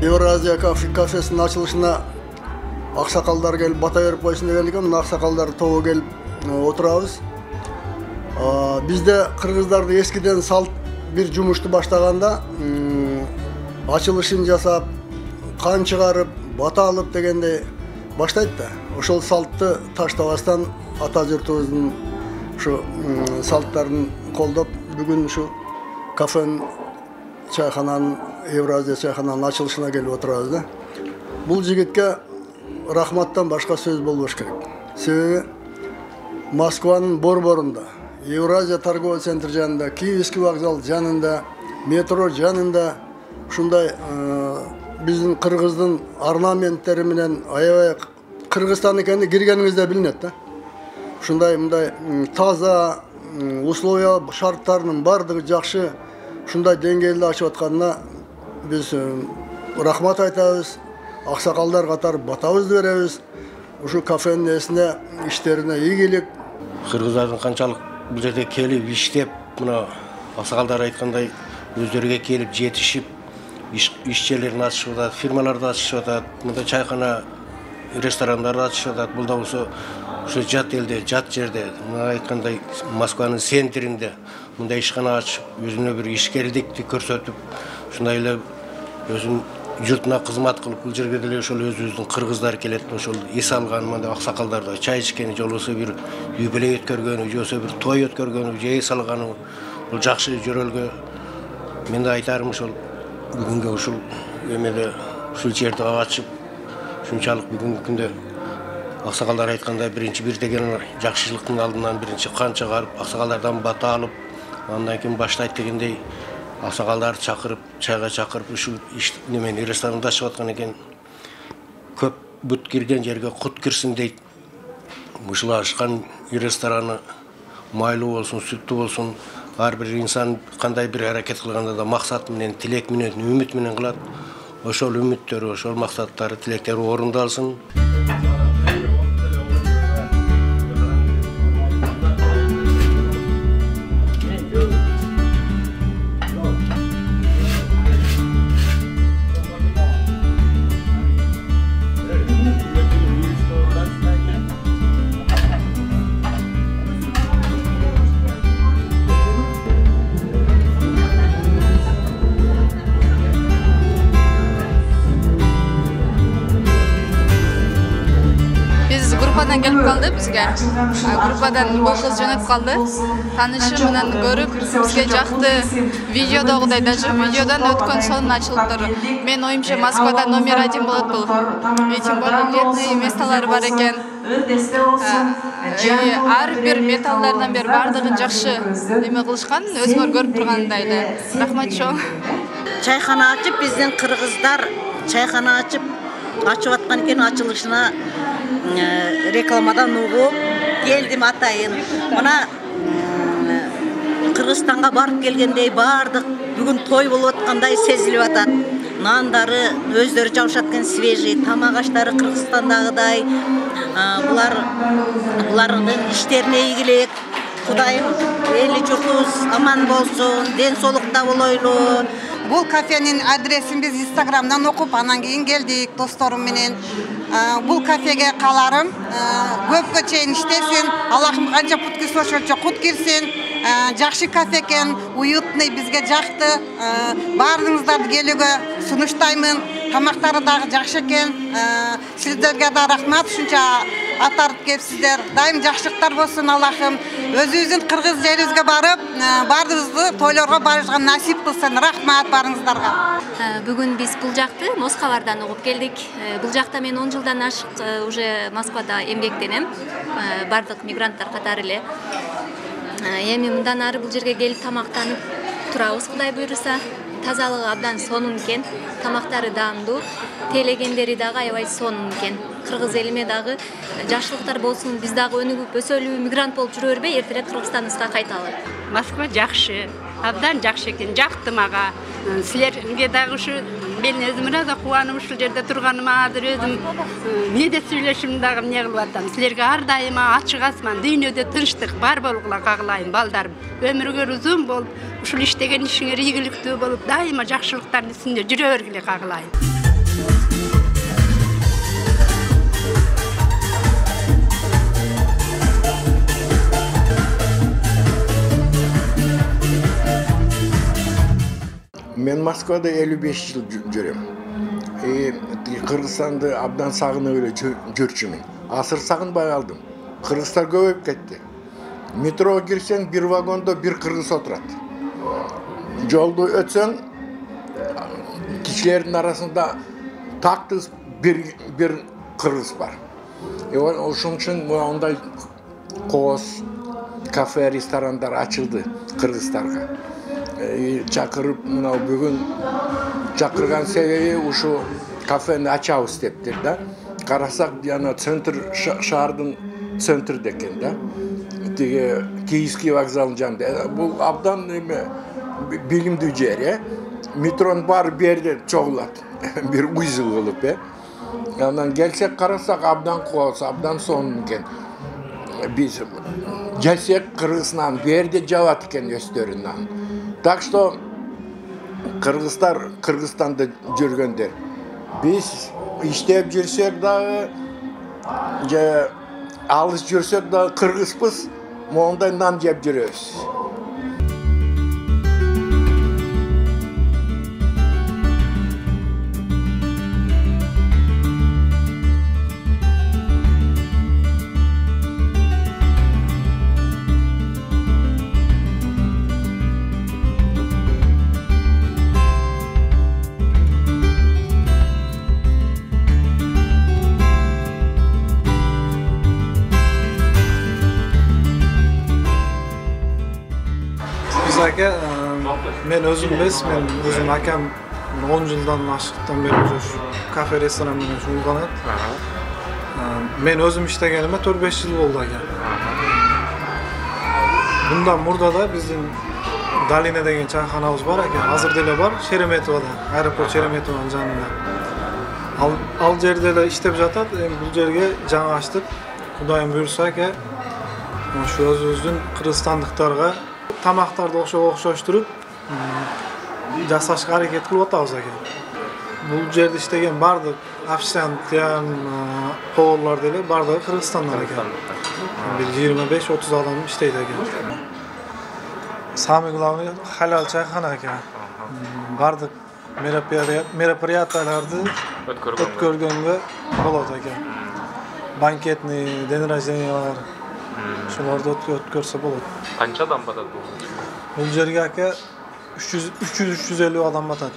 Евразия кафесинин ачылышына аксакалдар келип бата берип койсун деген экен. Мына аксакалдар тобу келип отурабыз. Бизде кыргыздарды эскиден салт бир жумушту баштаганда ачылышын жасап, кан чыгарып, бата алып дегендей баштайт да. Ошол салтты таштабастан ата журтубуздун ушу салттарын колдоп, бүгүн ушу кафенин, чайхананын, Евразия чайхананын ачылышына келип отурабыз да. Бул жигитке рахматтан башка сөз болбош керек. Себеби Москванын борборунда, Евразия торговый центр жанында, Киевский вокзал жанында, метро жанында ушундай биздин кыргыздын орнаменттери менен аябай Кыргызстан экени киргениңизде билинет да. Ушундай мындай таза условия шарттарынын бардыгы жакшы, ушундай деңгээлде ачып атканына биз рахмат айтабыз. Аксакалдар катары батабызды беребиз. Ушу кафенин эсине, иштерине ийгилик. Кыргыздардын канчалык бул жерде келип иштеп, мына аксакалдар айткандай өздөрүгө келип жетишип, иш жерлерин ачышып атат, фирмаларды ачышып атат, мында чайхана, ресторандарды ачышып атат. Бул да болсо ушу жат элде, жат жерде, мына айткандай Москванын центринде мындай ишкана ачып, өзүнө бир ишкерликти көрсөтүп, ушундай эле өзүнүн журтуна кызмат кылып, бул жерге деле ошол өзүбүздүн кыргыздар келет, ошол эс алган мындай аксакалдарда чай ичкени, же болбосо бир юбилей өткөргөнү, же болбосо бир той өткөргөнү, же эс алганы, бул жакшы жөрөлгө. Мен да айтарым ошол бүгүнгү ушул эмеде ушул жерди ачып, ушунчалык бүгүнкү күндө аксакалдар айткандай биринчи бир деген жакшылыктын алдынан биринчи кан чыгарып, аксакалдардан бата алып, андан кийин баштайт дегендей аксакалдарды чакырып, чайга чакырып, ушул немени ресторанда ачып аткан экен. Көп бут кирген жерге кут кирсин дейт. Ушул ачкан рестораны майлуу болсун, сүттүү болсун. Ар бир инсан кандай бир аракет кылганда да максат менен, тилек менен, үмүт менен кылат. Ошол үмүттөрү, ошол максаттары, тилектери орундалсын. Группадан келип калды бизге. Группадан бул кыз жөнөп калды. Танышы менен көрүп, бизге жакты. Видеодогудай даже видеодан өткөн сонун ачылыптыр. Мен оюмча Москвада номер 1 болот бул. И тем более летний месталары бар экен. Ар бир металлдардан бери бардыгын жакшы эме кылышкан, өзүңөр көрүп тургандай эле. Рахмат чоң. Чайхана ачып, биздин кыргыздар чайхана ачып аткан экен, ачылышына рекламадан угуп келдим атайын. Мына Кыргызстанга барып келгендей бардык бүгүн той болуп аткандай сезилип атат. Нандары өздөрү жабышат экен, свежий, тамак аштары Кыргызстандагыдай. Булардын иштерине ийгилик. Кудайым эли журтубуз аман болсун, ден соолукта болойлу. Бул кафенин адресин биз Инстаграмдан окуп, анан кийин келдик досторум менен. Бул кафеге каларым көпкө чейин иштесин, Аллахым канча пут кирсе ошончо кут кирсин. Жакшы кафе экен, уютный, бизге жакты. Баарыңыздарды келүүгө сунуштаймын. Тамактары дагы жакшы экен. Сиздерге да рахмат, ушунча атарып келипсиздер. Дайым жакшылыктар болсун Аллахым. Өзүбүздүн кыргыз жерибизге барып, баарыбызды тойлорго барышка насип кылсын. Рахмат баарыңыздарга. Бүгүн биз бул жакты Москвалардан угуп келдик. Бул жакта мен 10 жылдан ашык уже Москвада эмгектенем. Бардык мигранттар катары эле. Эми мындан ары бул жерге келип тамактанып турабыз, Кудай буйруса. Тазалыгы абдан сонун экен, тамактары даамдуу, тейлегендери дагы аябай сонун экен. Кыргыз элиме дагы жакшылыктар болсун, биз дагы өнүгүп өсөлү, мигрант болуп жүрө бербей, эртерээк Кыргызстаныбызга кайталы. Москва жакшы, абдан жакшы экен, жакты мага. Силерге дагы ушу мен өзүм ырааза кубанып ушул жерде турганыма, азыр өзүм эмнеде сүйлөшүм дагы эмне кылып атам. Силерге ар дайыма ачык асман, дүйнөдө тынчтык бар болгула кагылайын, балдарым. Өмүрүңөр узун болуп, ушул иштеген ишиңер ийгиликтүү болуп, дайыма жакшылыктардын үстүндө жүрө бергиле кагылайын. Мен Москвада 55 жыл жүрөм. Кыргызстанды абдан сагынып эле жүрчүмүн. Асыр сагынбай калдым. Кыргыздар көбөйүп кетти. Метрого кирсең, бир вагондо бир кыргыз отурат. Жолду өтсөң, кишилердин арасында тактыз бир кыргыз бар. Ошон үчүн мындай кооз, кафе, ресторандар ачылды кыргыздарга. Чакырып, мына бүгүн чакырган себеби ушу кафени ачабыз дептир да. Карасак, жана центр, шаардын центрде экен да. Тиги Кийский вокзалдын жанында. Бул абдан билимдүү жер, метронун баары бу жерде чогулат. Бир узел болуп, Анан келсек карасак абдан кооз, абдан сонун экен. Биз келсек Кыргызстан бу жерде жабат экен өздөрүнөн. Так что кыргыздар Кыргызстанда жүргөндөр. Биз иштеп жүрсөк дагы, же алыс жүрсөк дагы кыргызбыз, мондай нан жеп жүрөбүз. Aka, men özüm emas, men özüm akam 10 yıldan aşıqdan beri şu kafe restoran menен şugullanat. Men özüm iştegenime 4-5 yıl oldu aka. Bundan murda da bizim Dalina деген çayxanabız var aka. Hazır dele var, Şeremetova'da, aeroport Şeremetova'nın janında. Al jerde de iştep jatat, bu jerge жаңа açtık. Kudayım buyursa aka, şu özübüzdün Kırgızstandыкtarga tamaqtарды okşoşturup жасашка аракет кылып атабыз экен. Бул жерде иштеген бардык официант, поварлар деле бардыгы Кыргызстандан экен. Бир 25-30 адам иштейт экен. Самый главный халал чайхана экен. Бардык мероприятияларды өткөргөнгө болот экен. Банкетный, день рождениялар, шуларды өткөрсө болот. Канча адам батат бул? Бул жерге ака 300-350 адам батат.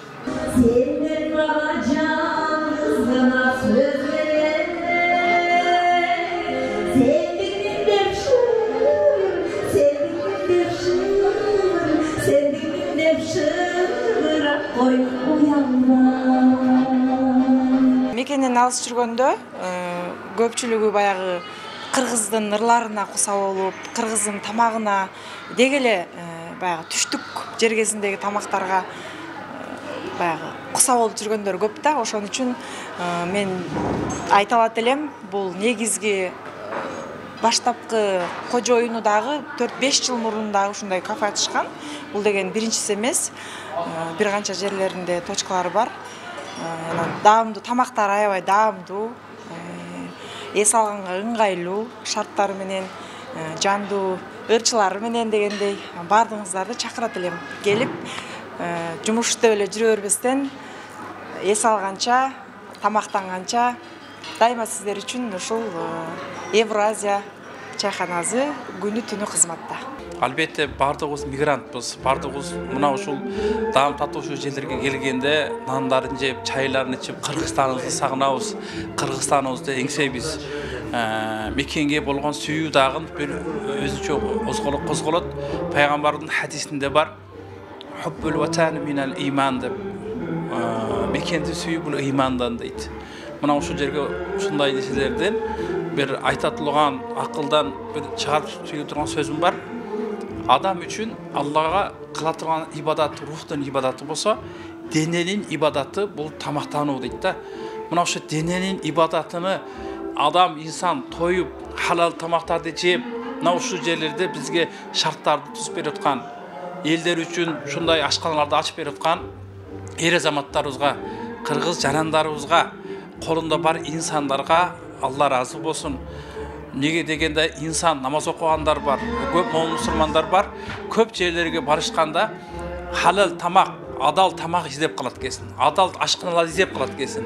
Мекенен алыс жүргөндө көпчүлүгү баягы кыргыздын ырларына куса болуп, кыргыздын тамагына дегеле баягы түштүк жергесиндеги тамактарга баягы куса болуп жүргөндөр көп да. Ошон үчүн мен айта алат элем, бул негизги баштапкы кожоюну дагы 4-5 жыл мурун дагы ушундай кафе ачышкан. Бул деген биринчиси эмес. Бир канча жерлеринде точкалары бар. Даамдуу тамактар аябай даамдуу. Эс алганга ыңгайлуу, шарттары менен, жандуу ырчылары менен дегендей бардыгыңыздарды чакырат элем. Келип, жумушта эле жүрө бербестен, эс алганча, тамактанганча дайыма сиздер үчүн ушул Евразия чайханасы күнү түнү кызматта. Албетте бардыгыбыз мигрантпыз, бардыгыбыз мына ушул даам татуучу жерлерге келгенде нандарын жеп, чайларын ичип, Кыргызстаныбызды сагынабыз, Кыргызстаныбызды эңсейбиз. Мекенге болгон сүйүү дагы бир өзүнчө козголот. Пайгамбардын хадисинде бар. Хуббул ватан минал иман деп. Мекенди сүйүү бул имандан дейт. Мына ушул жерге ушундай нерселерден бир айтатылган акылдан бир чыгарып сөйлөп турган сөзүм бар. Адам үчүн Аллага кыла турган ибадат рухтун ибадаты болсо, дененин ибадаты бул тамактануу дейт да. Мына ошо дененин ибадатыны адам инсан тоюп, халал тамактарды жеп, мына ушул жерлерде бизге шарттарды түзүп берип аткан, элдер үчүн ушундай ашканаларды ачып берип аткан эр азаматтарыбызга, кыргыз жарандарыбызга, колунда бар инсандарга Алла разы болсун. Неге дегенде инсан намаз окугандар бар, көп мусулмандар бар. Көп жерлерге барышканда халал тамак адал тамак издеп калат экенсиң, адал ашканалар издеп калат экенсиң.